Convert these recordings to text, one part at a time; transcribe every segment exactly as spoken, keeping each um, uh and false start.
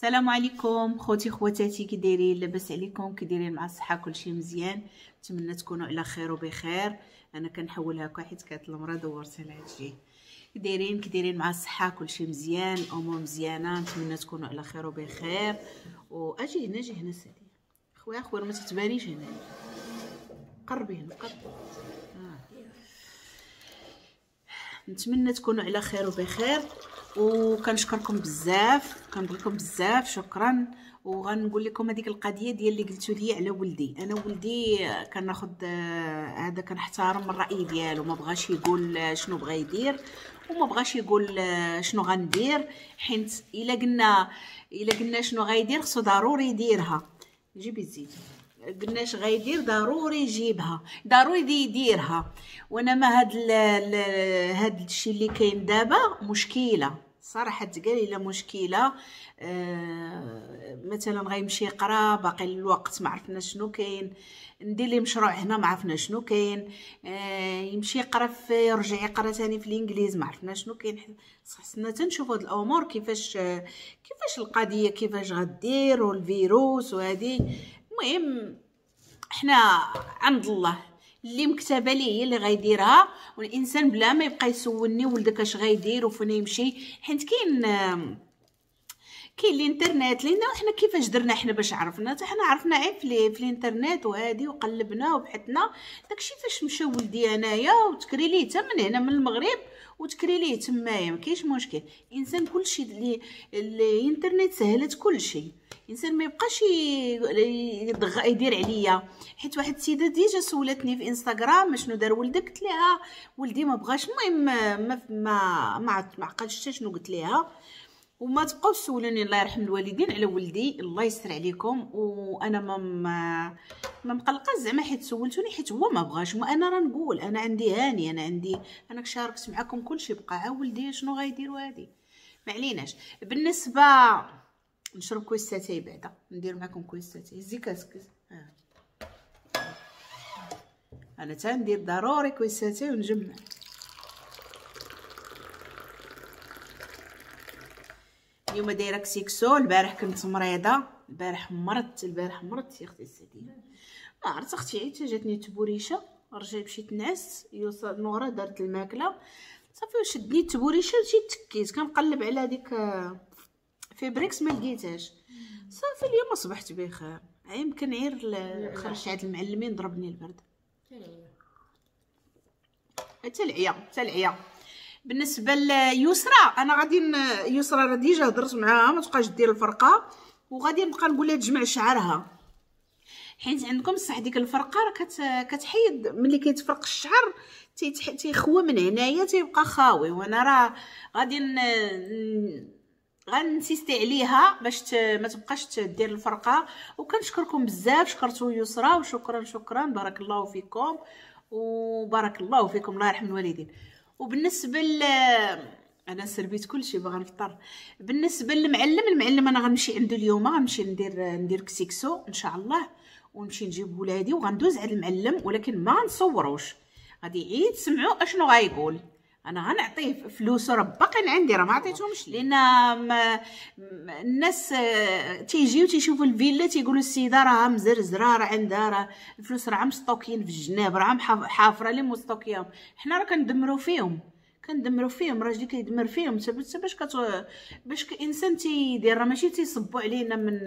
السلام عليكم خوتي خواتاتي، كي دايرين؟ لاباس عليكم؟ كي دايرين مع الصحة؟ كلشي مزيان؟ نتمنى تكونوا على خير وبخير. انا كنحول هكا حيت كانت المرا دورتها لهاد الجهة. كي دايرين كي دايرين مع الصحة؟ كلشي مزيان، الامور مزيانه، نتمنى تكونوا على خير وبخير. واجي هنا، اجي هنا سعدي خويا، خويا ما تتبانيش هنا، قربي هنا قربي. آه. نتمنى تكونوا على خير وبخير، وكنشكركم بزاف، كنبغيكم بزاف، شكرا. وغنقول لكم هذيك القضية ديال اللي قلتوا لي على ولدي. انا ولدي كناخذ هذا، كنحترم الراي ديالو، ما بغاش يقول شنو بغا يدير وما بغاش يقول شنو غندير، حيت الا قلنا الا قلنا شنو غيدير خصو ضروري يديرها. جيبي الزيت، قلنا اش غيدير ضروري يجيبها، ضروري يديرها. وانا ما هاد هاد الشيء اللي كاين دابا مشكلة صراحة، تقال الا مشكلة. آه مثلا غيمشي يقرا، باقي الوقت ما عرفنا شنو كاين، ندير ليه مشروع هنا ما عرفنا شنو كاين، آه يمشي يقرا في، يرجع يقرا ثاني في الانجليز ما عرفنا شنو كاين. خصنا تنشوفوا هاد الامور كيفاش كيفاش القضية كيفاش غدير، والفيروس وهذه. المهم حنا عند الله، اللي مكتبه ليه هي اللي غيديرها، والانسان بلا ما يبقى يسولني ولدك اش غيدير وفين يمشي، حيت كاين كاين الانترنت. لان حنا كيفاش درنا حنا باش عرفنا؟ حتى حنا عرفنا عيب في, في الانترنت وهادي، وقلبنا وبحثنا داكشي فاش مشى ولدي انايا، وتكري ليه حتى من هنا من المغرب وتكري ليه تمايا، ما كاينش مشكل. الانسان كلشي اللي الانترنت سهلت كلشي، الانسان ما يبقاش يدير عليا. حيت واحد السيدة déjà سولتني في انستغرام شنو دار ولدك، قلت لها ولدي ما بغاش. المهم ما ما ما عقلتش شنو قلت لها. وما تبقاوش تسولوني الله يرحم الوالدين على ولدي، الله يستر عليكم. وانا ما ما مقلقة زعما حيت سولتوني، حيت هو ما بغاش. ما انا راه نقول انا عندي هاني، انا عندي، انا شاركت معكم كلشي، بقى ها ولدي شنو غيدير وهادي ما عليناش. بالنسبة نشرب كويس تاي بعدا، ندير معكم كويس تاي. هزي كاسك. آه. انا تندير ضروري كويس تاي ونجمع. اليوم دايرة كسيكسو. البارح كنت مريضه، البارح مرضت، البارح مرضت يا اختي السعديه، ما عرفت اختي حتى جاتني تبوريشه، رجعت مشيت نعست، يوصل نورا دارت الماكلة صافي وشدني التبوريشه، مشيت تكيت كنقلب على هذيك فيبريكس ما لقيتهاش. صافي اليوم صبحت بخير، يمكن غير خرجت عند المعلمين ضربني البرد حتى العيا حتى العيا. بالنسبة ليسرى انا غادي يسرى راه déjà هضرت معاها ما تبقاش دير الفرقة، وغادي نبقى نقول لها تجمع شعرها، حيت عندكم صح ديك الفرقة راه كتحيد ملي كيتفرق الشعر تيخوى من هنايا تيبقى خاوي. وانا راه غادي غنسيستي عليها باش ما تبقاش تدير الفرقة. وكنشكركم بزاف، شكرتو يسرى وشكرا شكرا، بارك الله فيكم وبارك الله فيكم، الله يرحم الوالدين. وبالنسبة ل انا سربيت كلشي باغا نفطر. بالنسبة للمعلم، المعلم انا غنمشي عنده اليوم، غنمشي ندير ندير كسيكسو ان شاء الله، ونمشي نجيب ولادي وغندوز على المعلم، ولكن ما نصوروش، غادي عيد تسمعوا اشنو غايقول. انا غنعطيه فلوسو راه باقيين عندي، راه ما عطيتهمش، لان الناس تيجيو تيشوفوا الفيلا تيقولوا السيدة راه مزرزره، راه عندها راه الفلوس راه مستوكيين في الجناب، راه حافره لي مستوكيهم. حنا راه كندمروا فيهم، كندمروا فيهم، راجلي كيدمر فيهم حتى باش كت باش الانسان تيدير، راه ماشي تيصبوا علينا من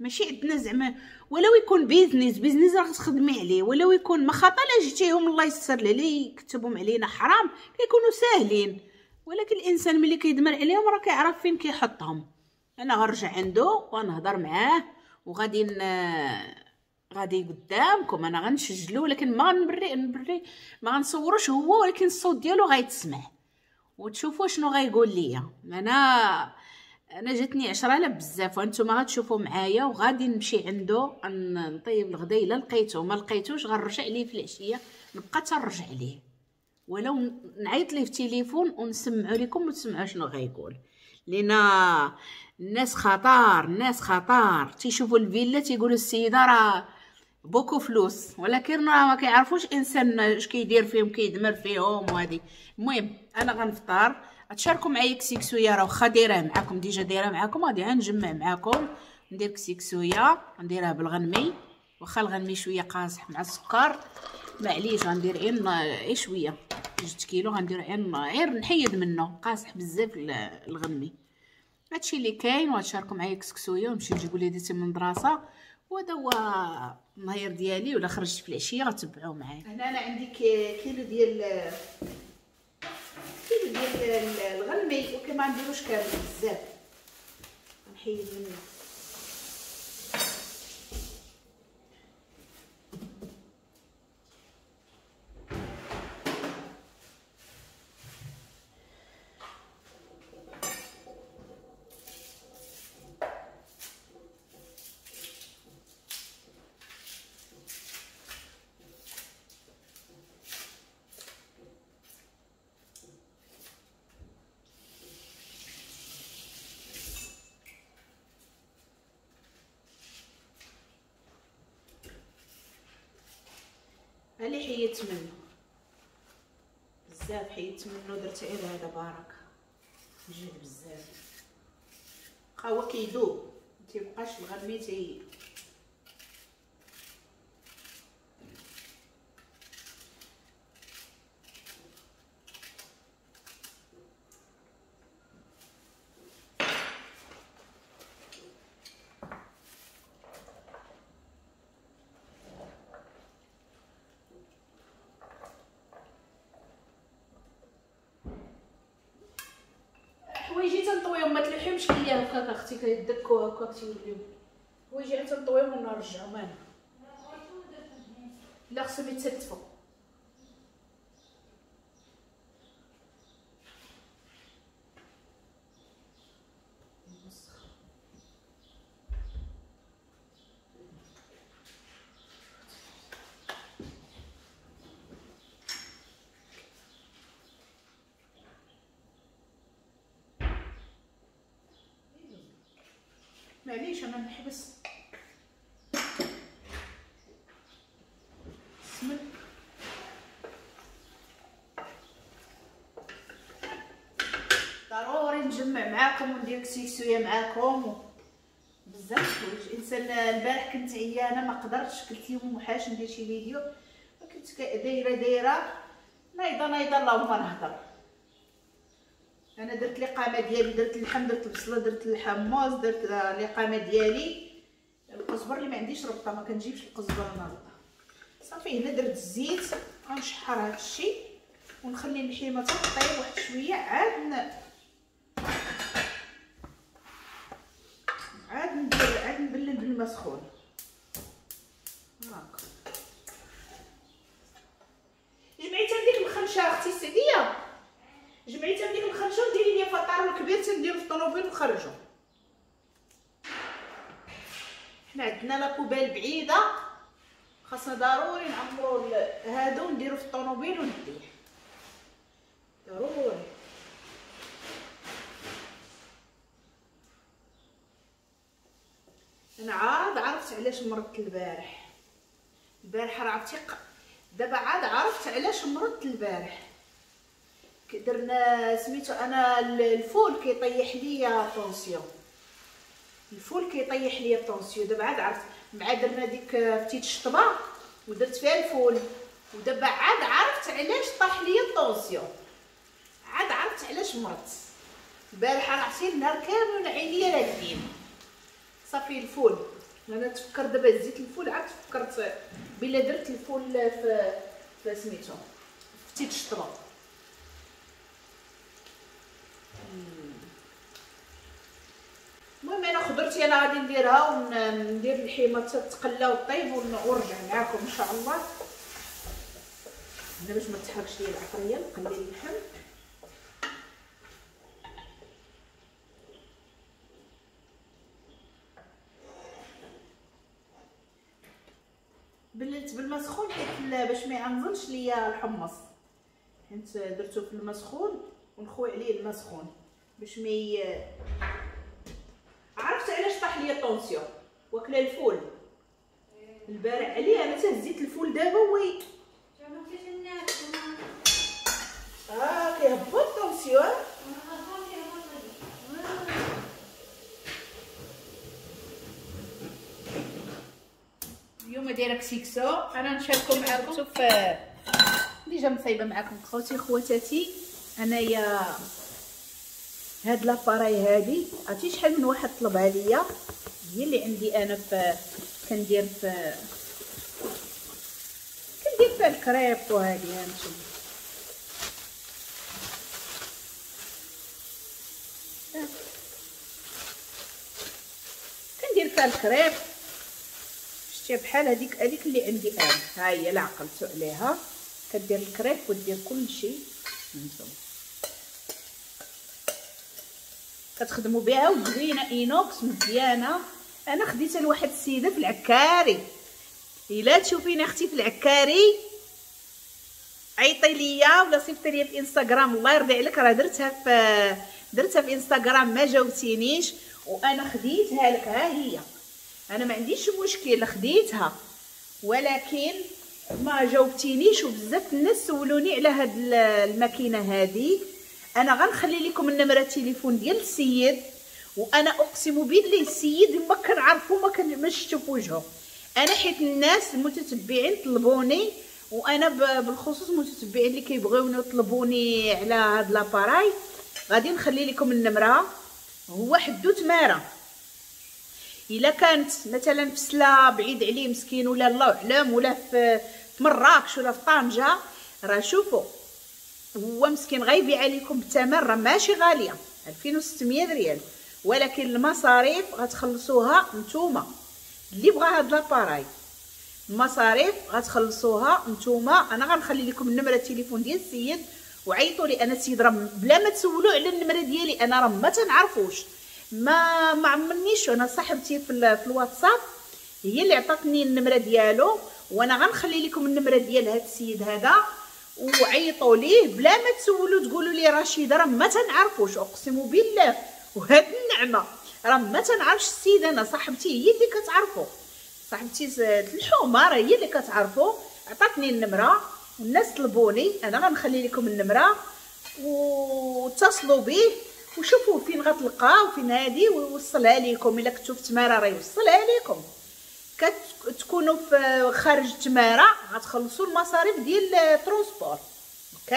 ماشي عندنا زعما. ولو يكون business business راه تخدمي عليه، ولو يكون ما خطا لا جيتيهم الله يستر لي يكتبهم علينا حرام، كيكونوا ساهلين. ولكن الانسان ملي كيدمر عليهم راه كيعرف فين كيحطهم. انا غنرجع عنده ونهضر معاه وغادي ن... غادي قدامكم انا غنسجلو، ولكن ما غنبري نبري ما غنصوروش هو، ولكن الصوت ديالو غيتسمع وتشوفوا شنو غيقول ليا. انا انا جاتني عشرة آلاف بزاف، وانتم غتشوفوا معايا. وغادي نمشي عنده نطيب الغدا، الا لقيته ما لقيتوش غنرجع ليه في العشية، نبقى تنرجع ليه ولو نعيط ليه في التليفون ونسمعوا لكم وتسمعوا شنو غيقول. لان الناس خطر، الناس خطر، تيشوفوا الفيلا تيقولوا السيدة راه beaucoup فلوس، ولكن راه ما كيعرفوش انسان اش كيدير فيهم، كيدمر فيهم وهادي. المهم انا غنفطر، تشاركوا معايا كسيكسويه، راه واخا دايراه معاكم déjà دايرة معاكم، غادي نجمع معاكم ندير كسيكسويه نديرها بالغنمي، واخا الغنمي شوية قاصح مع السكر معليش، غندير غير غير شوية جوج كيلو غندير غير غير نحيد منه، قاصح بزاف الغنمي. هادشي اللي كاين، وغتشاركوا معايا كسكسويه ونمشي نجيب وليداتي من المدرسة، وهذا هو النهار ديالي. ولا خرجت في العشية غتبعوا معايا. هنا انا عندي كيلو ديال كيلو ديال الغنمي، وكما نديروش كامل بزاف، نحيد منه. اللي حيدت منه بزاف، حيدت منه درت غير هذا بارك جهد بزاف، بقى هو كيذوب متيبقاش الغنمي تي حوايجي تنطويهم، ما تلوحيهمش ليا هكاك اختي كيدكو هكاك تيوليو حوايجي تنطويهم ونرجعهم انا. لا خصهم يتستفوا. معليش انا نحبس السمن. ضروري نجمع معاكم وندير كسيكسويه معاكم بزاف حوايج. الانسان البارح كنت عيانه ما قدرتش، قلت لهم محاش ندير شي فيديو، كنت دايرة دايرة نايضه نايضه اللهم نهضر. انا درت الاقامة ديالي، درت اللحم، درت البصله، درت الحمص، درت الاقامة ديالي. القزبر اللي ما عنديش ربطه، ما كنجيبش القزبر انا ربطه. صافي هنا درت الزيت، غنشحر هذا الشيء ونخلي اللحيمه تطيب واحد شوية، عاد ن... عاد ندير عاد نبلل بالماء سخون هاكا. جمعيتها بديك الخنشه اختي السعديه، جمعيتها بديك الخنشه وديري ليا فطار الكبير تنديرو في الطوموبيل ونخرجو. حنا عندنا la poubelle بعيدة، خاصنا ضروري نعمرو هادو ونديرو في الطوموبيل ونديه ضروري. انا عاد عرفت علاش مرضت البارح. البارح راه عرفتي دابا عاد عرفت علاش مرضت البارح. درنا سميتو انا الفول كيطيح ليا tension، الفول كيطيح ليا tension. دابا عاد عرفت، مع درنا ديك فتيت الشطبه ودرت فيها الفول، ودابا عاد عرفت علاش طاح ليا ال tension، عاد عرفت علاش مرضت البارح. راه عرفتي النهار كامل عينيا راكدين. صافي الفول انا تفكر دابا زيت الفول، عاد تفكرت بلا درت الفول في في سميتو فتيت الشطبه. المهم انا خضرتي انا غادي نديرها وندير اللحيمه تتقلى وطيب ونرجع معاكم ان شاء الله. هنا باش ما تحرقش ليا العطريه نقلي اللحم. بللت بالماء سخون حيت باش ما يعنزلش ليا الحمص، حيت درتو في الماء سخون ونخوي عليه الماء سخون باش ما ي... عرفت علاش طاح ليا ال tension؟ واكله الفول البارح عليه انا تهزيت الفول دابا oui اه كيهبط ال tension. اليوم دايرة كسيكسو، انا نشاركو معاكم. شوف déjà مصايبه معاكم خوتي خواتاتي. انايا هاد l'appareil هادي عرفتي شحال من واحد طلبها ليا، هي اللي عندي انا في كندير في كندير فيها الكريب وهادي. ها نتوما كندير فيها الكريب، شتي بحال هذيك هذيك اللي عندي انا، ها هي لا عقلتو عليها. كدير الكريب ودير كلشي، نتوما كتخدموا بها وزوينه inox مزيانه. انا خديتها لواحد السيدة في العكاري، الا تشوفيني اختي في العكاري عيطي ليا ولا صيفطي ليا في انستغرام، الله يرضي عليك. راه درتها في درتها في انستغرام ما جاوبتينيش، وانا خديتها لك. ها هي، انا ما عنديش مشكل خديتها، ولكن ما جاوبتينيش. وبزاف الناس سولوني على هاد الماكينة هادي. انا غنخلي لكم النمرة التليفون ديال السيد، وانا اقسم بالله السيد ما كنعرفو ما كن شفتو في وجهه. انا حيت الناس المتتبعين طلبوني، وانا بالخصوص المتتبعين اللي كيبغيوني يطلبوني على هاد l'appareil، غادي نخلي لكم النمرة. هو حدو تماره، الا كانت مثلا في سلا بعيد عليه مسكين، ولا الله اعلم، ولا في مراكش ولا في طنجه، راه شوفوا هو مسكين غيبيع لكم بثمن راه ماشي غالية، ألفين وستمية ريال، ولكن المصاريف غتخلصوها نتوما. اللي بغى هاد l'appareil المصاريف غتخلصوها نتوما. انا غنخلي لكم النمرة التليفون ديال السيد وعيطوا لي. انا السيد راه بلا ما تسولوا على النمرة ديالي، انا راه ما تنعرفوش، ما ما عمرنيش. انا صاحبتي في, في الواتساب هي اللي عطاتني النمرة ديالو، وانا غنخلي لكم النمرة ديال هاد السيد هذا وعيطوا ليه بلا ما تسولوا تقولوا لي رشيده راه ما تنعرفوش، اقسم بالله وهاد النعمة راه ما تنعرفش السيد. انا صاحبتي هي اللي كتعرفو، صاحبتي الحومه راه هي اللي كتعرفو، عطاتني النمرة والناس طلبوني. انا غنخلي لكم النمرة واتصلوا به وشوفوا فين غتلقاو فين هادي ويوصلها لكم. الا كنتو في تماره راه يوصلها لكم، كتكونوا في خارج تماره غتخلصوا المصاريف ديال ال transport. OK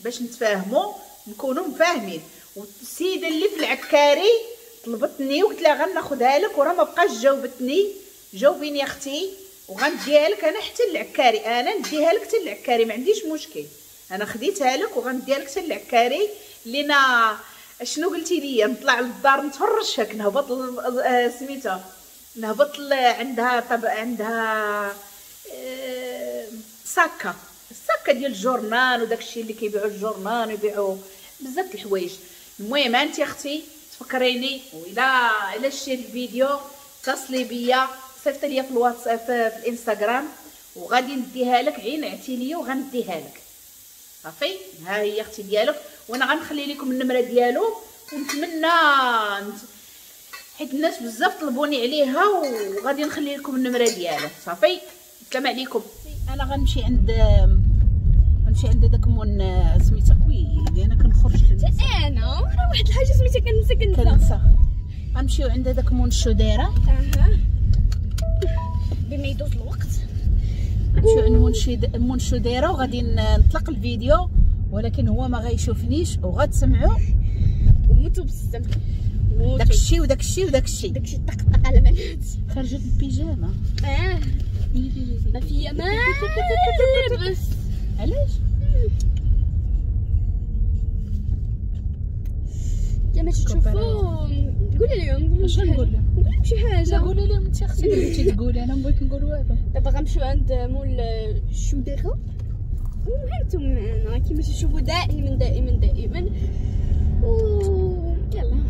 باش نتفاهموا نكونوا مفاهمين. والسيدة اللي في العكاري طلبتني وقلت لها غناخذها لك، وراه ما بقاش جاوبتني. جاوبيني يا اختي وغنديها لك انا حتى العكاري، انا نديها لك حتى العكاري ما عنديش مشكل، انا خديتها لك وغنديها لك حتى العكاري. لينا شنو قلتي لي؟ نطلع للدار نتفرج هاك، نهبط سميتها، نهبط عندها، طب عندها ساكه، الساكه ديال ال journal وداك الشيء اللي كيبيعوا ال journal ويبيعوا بزاف الحوايج. المهم انت اختي تفكريني، وإلا الا شتي الفيديو اتصلي بيا، صيفط ليا في الواتساب في, في الانستغرام وغادي نديها لك، عين عتي ليا وغنديها لك. صافي ها هي اختي ديالك، وانا غنخلي لكم النمرة ديالو. ونتمنى حيت الناس بزاف طلبوني عليها، وغادي نخلي لكم النمرة ديالو. صافي السلام عليكم. انا غنمشي عند غنمشي عند داك مون سميتها، ويلي انا كنخرج كنسى انا راه واحد الحاجة سميتها كنسى كنسى كنسى. غنمشيو عند داك مون الشوديره، اها بما يدوز الوقت نمشيو عند مون شيد مون الشوديره وغادي نطلق الفيديو، ولكن هو ما غيشوفنيش وغتسمعوا وموتوا بالسم داكشي وداكشي وداكشي داكشي طقطق على بنات. خرجت البيجامه اه ما فيا ما لبس. علاش؟ كما تشوفوا قولي لهم، اش نقول لهم؟ قولي لهم شي حاجة. قولي لهم انت اختي اللي بغيتي تقولي، انا ما بغيت نقول والو. دابا غنمشيو عند مول الشوديره وهانتم معنا كما تشوفوا دائما دائما دائما. و يلا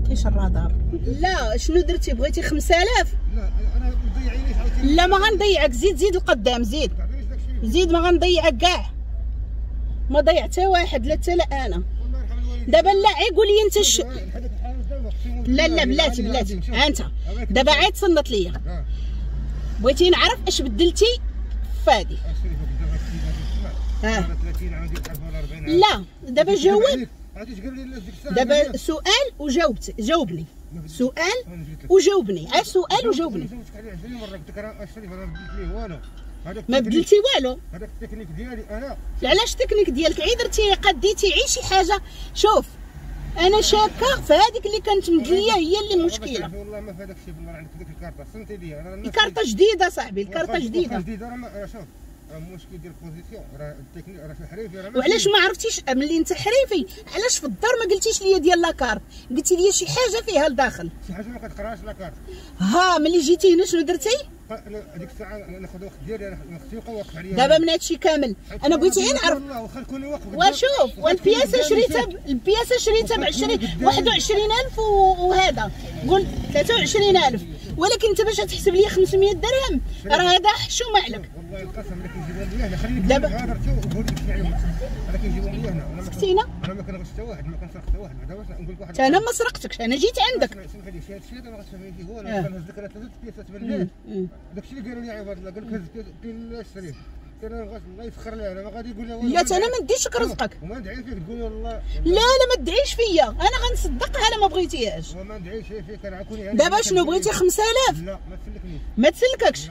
كاينش الرادار. لا شنو درتي؟ بغيتي خمسة آلاف؟ لا انا مضيعينيش عاوتاني. لا ما غنضيعك، زيد زيد القدام، زيد زيد، ما غنضيعك كاع، ما ضيع حتى واحد، لا حتى لا انا. دابا لا عي قول لي انت ش... لا لا بلاتي بلاتي، ها انت دابا عاد تصنت ليا. بغيتي نعرف اش بدلتي فادي؟ ها لا دابا جاوب، دابا سؤال وجاوبت، جاوبني. سؤال وجاوبني، ها سؤال وجاوبني. جاوبتك عليه عشرين مرة، قلت لك راه الشريف انا ما بدلت ليه والو. ما بدلتي والو. هذاك التكنيك ديالي انا. علاش التكنيك ديالك؟ عي درتي قديتي عي شي حاجة. شوف انا شاكه في هذيك اللي كانت مدليه هي اللي مشكلة. والله ما في هذاك الشيء، بالله عندك ديك الكارطه صنتي لي انا. الكارطه جديدة صاحبي، الكارطه جديدة. جديدة راه شوف المشكل ديال ال position راه التكنيك راه في حريفي. راه وعلاش ما عرفتيش ملي انت حريفي علاش في الدار ما قلتيش لي ديال la carte؟ قلتي لي شي حاجة فيها لداخل، شي حاجة ما كتقراش la carte. ها ملي جيتي هنا شنو درتي؟ هذيك الساعة ناخذ الوقت ديالي، انا خصني يبقى واقف عليا. دابا من هادشي كامل انا بغيت غير نعرف. واخا نكون واقف وشوف والبياسه شريتها، البياسه شريتها ب عشرين واحد وعشرين ألف وهذا قول ثلاثة وعشرين ألف، ولكن انت باش تحسب لي خمسمية درهم راه هذا حشومه عليك. والله القسم الا كيجيبهم لي هنا خليني دابا غادرتي وقول لك شنو عليهم. انا كيجيبهم لي هنا. سكتينا؟ انا ما كنغش حتى واحد، ما كنسرق حتى واحد. بعدا باش نقول لك واحد، انا ما سرقتكش، انا جيت عندك. سمح لي شي هادشي هذا ما غتفهمي فيه والو. انا كنهز لك ثلاثة بياسات من الليل، داكشي اللي قالوا لي عباد الله، قال لك هز كاين الشريف، انا الله يسخر لي، انا ما غادي يقول لي والو. لا انا ما نديش رزقك وما ندعي فيك تقول والله. لا لا ما تدعيش فيا، انا غنصدقها انا ما بغيتيهاش. وما ندعيش فيك انا عكوني. دابا شنو بغيتي؟ خمسة آلاف؟ لا ما تسلكنيش. ما تسلككش؟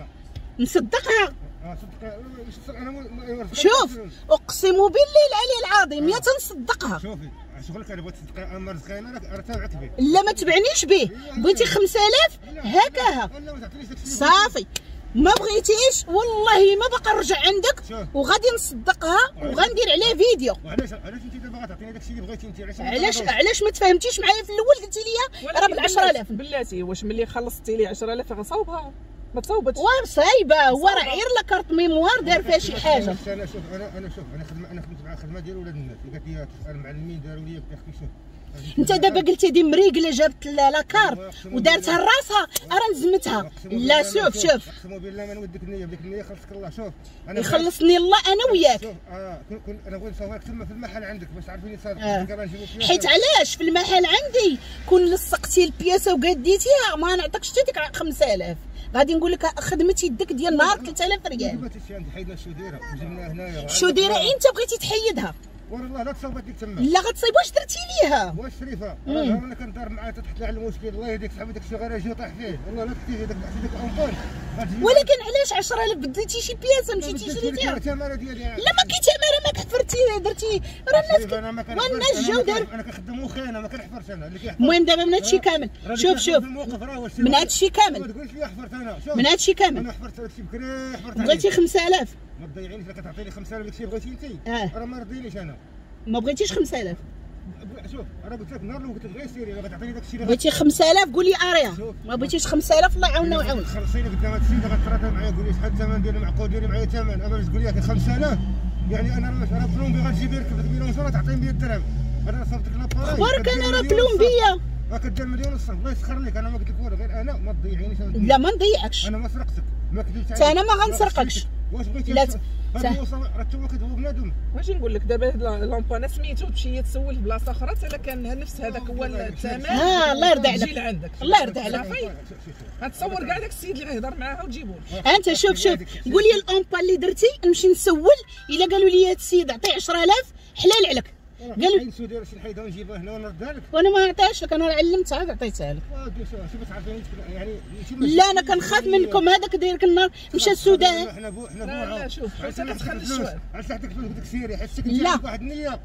نصدقها. اه صدق انا. شوف اقسم بالله العلي العظيم يا تنصدقها. شوفي شغلك انا بغيت تصدقي، اما رزقي انا راه تابعك به. لا ما تبعنيش به، بغيتي خمسة آلاف هكاها صافي. ما بغيتيش والله ما باقا نرجع عندك وغادي نصدقها وغندير عليها فيديو. وعلاش علاش انت دابا غتعطيني داكشي اللي بغيتي انت؟ علاش علاش علاش ما تفاهمتيش معايا في الاول؟ قلتي لي راه ب عشرة آلاف. بلاتي واش ملي خلصتي لي عشرة آلاف غنصاوبها؟ ما تصوبتش. واه صايبه، هو راه غير la carte mémoire دار فيها شي حاجة. انا شوف انا انا شوف انا خدمة، انا خدمت مع خدمة ديال ولاد الناس اللي قالت لي تسال المعلمين داروا لي قلت لك شوف انت دابا قلتي دي مريقله جابت la carte ودارتها لراسها راه نزمتها. لا شوف شوف اقسم بالله ما نودك النية، بديك النية خلصك الله. شوف انا يخلصني الله انا وياك. شوف اه كن انا بغيت نصورك تما في المحل عندك باش تعرفيني صادق. آه. حيت علاش في المحل عندي كون لصقتي البياسه وقديتيها ما نعطيكش حتى ديك خمسة آلاف، غادي نقول لك خدمتي يدك ديال نهار ثلاثة آلاف ريال. دابا عندي حيدنا الشوديره وجبناها هنايا. الشوديره انت بغيتي تحيدها؟ والله لا تصاوبت لك تما. لا غتصايب واش درتي ليها؟ واش شريفه راه انا كندار معاها تحت لها على المشكل. الله يهديك صاحبي داك الشيء غير اجي وطيح فيه. والله لا تكتي داك داك l'ampoule. ولكن علاش عشرة آلاف بدلتي شي بياسه مشيتي شريتيها؟ التماره ديالي. لا ما كاين تماره، ما كحفرتي درتي راه الناس والناس جاو دار. انا كنخدم وخي انا ما كنحفرش انا اللي كيحفر. المهم دابا من هادشي كامل شوف شوف من هادشي كامل ما تقولش لي حفرت انا. شوف من هادشي كامل انا حفرت هادشي بكري حفرت. بغيتي خمسة آلاف؟ ما تضيعينيش، الا كتعطيني خمسة آلاف داكشي بغيتي انت راه ما رضينيش انا. ما بغيتيش خمسة آلاف؟ شوف راه قلت لك النهار الاول قلت لك غير سيري غتعطيني داكشي اللي بغيتي خمسة آلاف قولي اريا. ما بغيتيش خمسة آلاف الله يعاوننا ويعاونك. خلصيني قدام هاد السيدة غتراضى معايا قولي شحال الثمن ديال المعقول ديري معايا ثمن. اما باش تقول لي خمسة آلاف يعني انا راه plombier غتجيب يركب لك mélangeur تعطيني مية درهم. انا صافت لك l'appareil اخبارك انا راه plombier راه كدير مليون ونص. الله يسخر لك انا ما قلت لك والو، غير انا ما تضيعينيش. لا ما نضيعكش، انا ما سرقتك ما كذبت عليك حتى انا ما غنسرقكش. واش بغيتي؟ لا راه تا هو كيدوب بنادم. واش نقول لك دابا l'ampoule سميتو تمشي تسول في بلاصة اخرى حتى كان نفس هذاك هو الثمن. اه الله يرضي عليك الله يرضي عليك. غتصور كاع داك السيد اللي غيهضر معاها وتجيبو. انت شوف شوف قول لي l'ampoule اللي درتي نمشي نسول الا قالوا لي هذا السيد عطية عشرة آلاف حلال عليك. قالوا لي شي نحيدها ونجيبها هنا ونردها لك. وانا ما نعطيهاش لك، انا علمتها عاد عطيتها لك. شوف تعرفيني يعني. لا انا كنخاف منكم، هذاك داير لك النار مشى السودان. حنا بو حنا لا لا شوف حتى كتخلي الشوال علاش حطيت فلوس قلت لك سيري حيت سكنتي عندك واحد النية.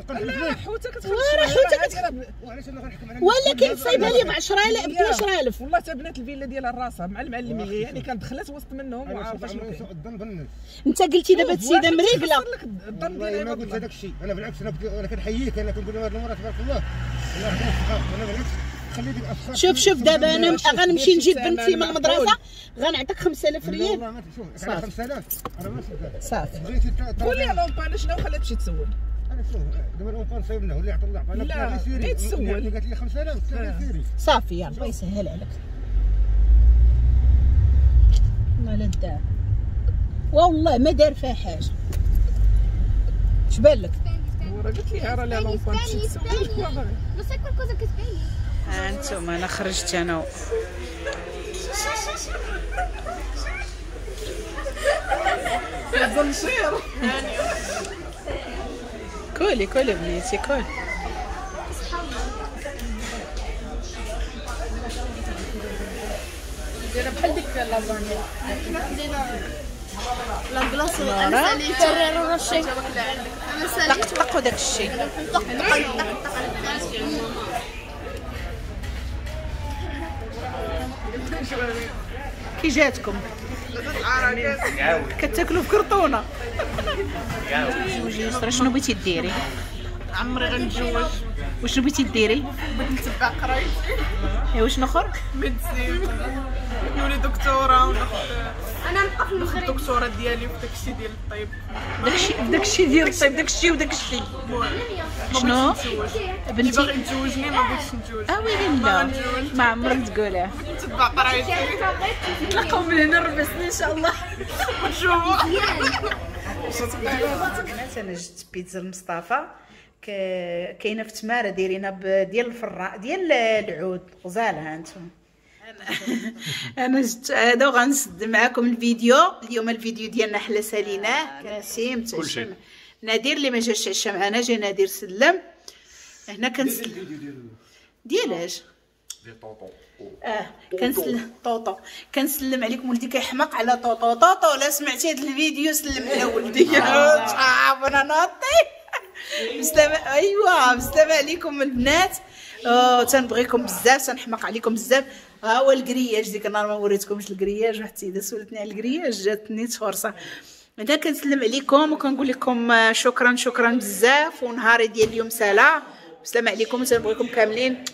لا حوته كتخلي راه حوته كتخلي. وعلاش انا غنحكم على ولكن صايبها لي ب عشرة آلاف ب اثنا عشر ألف. والله حتى بنات الفيلا ديالها راسها مع المعلميه يعني كانت دخلت وسط منهم وعارفه شنو كاين. انت قلتي دابا السيدة مريقله. الظن ديالها ما قلت هذاك الشيء انا بالعكس انا انا كنحييك انا كنقول لهم هذه المرة تبارك الله الله يعطيها الصحة. انا بالعكس خلي ديك الافكار. شوف شوف دابا انا غنمشي نجيب بنتي من المدرسة غنعطيك خمسة آلاف ريال. والله ما شوف على خمسة آلاف انا ما صدقت صافي. بغيتي قول لي l'ampoule شنو خلات تمشي تسول. انا شوف دابا l'ampoule صايبنا واللي عطى الله عطانا. لا غير تسول. قالت لي خمسة آلاف قلت لها سيري صافي يلا الله يسهل عليك. والله لا دار والله ما دار فيها حاجة. اش بان لك؟ راه قلت لي راه لا l'ampoule تمشي تسول. Non sai qualcosa che spegni? انتم انا خرجت انا الزنشير. كولي كولي بنيتي كولي. دايرة بحال ديك لازانيا. حنا خدينا la glace. انا ساليت Ferrero Rocher. انا ساليت. طقطقوا داك الشيء. طق طق طق طق. كي جاتكم؟ كتاكلوا في كرتونة. تزوجي يسرا، شنو بغيتي ديري؟ عمري غنتزوج. وشنو بغيتي ديري؟ بغيت نتبع قرايتي. ايوا شنو اخر؟ médecine، نولي دكتورة وناخذ انا نبقى في المغرب. الدكتورة ديالي في داكشي ديال الطب. داكشي داكشي ديال الطب، داكشي وداكشي. شنو بنتي باغي تزوجني؟ ما بغيتش نتزوج. اه ويلي لا، ما عمرك تقولها. بغيت نتبع قرايتي. نتلاقاو من هنا ربع سنين ان شاء الله ونشوفوا. انا جبت بيتزا لمصطفى، كاينه في تماره دايرينها ديال الفراء ديال العود، غزاله. ها انتم انا جبت هذا وغنسد معكم الفيديو اليوم. الفيديو ديالنا حلا ساليناه. نسيم كلشي. نادر اللي ما جاش عشا معنا، جا نادر سلم هنا. كنسلم ديالاش؟ ديال طوطو. اه كنسلم طوطو، كنسلم عليكم. ولدي كيحماق على طوطو. طوطو لا سمعتي هذا الفيديو سلم على ولدي. عارف انا ناطي. بسلامه. ايوا بسلامه عليكم البنات. أوه تنبغيكم بزاف، تنحماق عليكم بزاف. ها هو ال grillage، ديك النهار ما وريتكمش ال grillage، واحد السيدة سولتني على ال grillage جاتني فرصة. هنا كنسلم عليكم وكنقول لكم شكرا شكرا بزاف، ونهاري ديال اليوم سالا. بسلامه عليكم، تنبغيكم كاملين.